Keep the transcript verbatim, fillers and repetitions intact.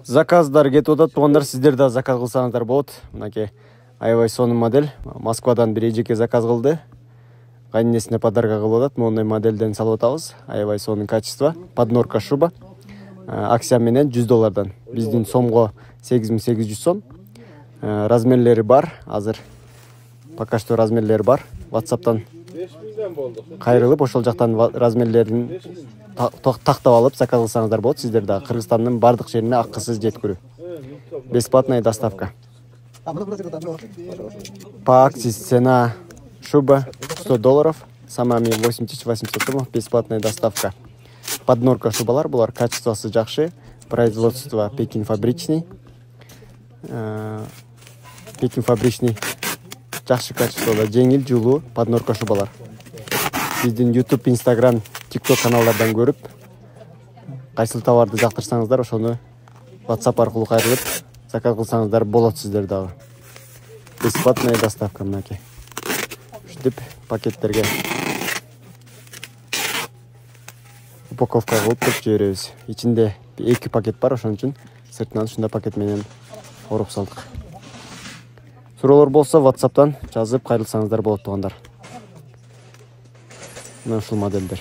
Заказдар кетип атат, туугандар, сиздер да заказ кылсаңыздар болот. Мынакей аябай сонун модель. Москвадан бир эжеке заказ кылды. Кайнесине подарка кылып атат. Мондай модельден салып атабыз. Аябай сонун качество. Поднорка шуба. Акция менен жүз доллардан. Биздин сомго сегиз миң сегиз жүз сом. Размерлери бар. Азыр пока что размерлери бар. WhatsApp'тан кайрылып, ошол жактан размерлерин тактап алып заказ кылсаңыздар болот. Сиздер да Кыргызстандын бардык жерине акысыз жеткирүү. Бесплатная доставка. По акции цена шуба сто долларов, самами восемь тысяч восемьсот сомов, бесплатная доставка. Поднорка шубалар, булар качествосы жакшы, производство Пекин фабричный. Пекин фабричный жакшы качествода, жеңил, жулуу поднорка шубалар. Биздин YouTube, Instagram, TikTok каналдардан көрүп, кайсыл товарды жактырсаңыздар, ошону WhatsApp аркылуу кайрылып заказ кылсаңыздар болот сиздер дагы. Бесплатная доставка мынакей. Ушинтип пакеттерге упаковка кылып туруп жиберебиз. Ичинде эки пакет бар, ошон үчүн сыртынан ушундай пакет менен оруп салдык. Суроолор болсо WhatsApp'тан жазып кайрылсаңыздар болот туугандар. Мына ушул модельдер.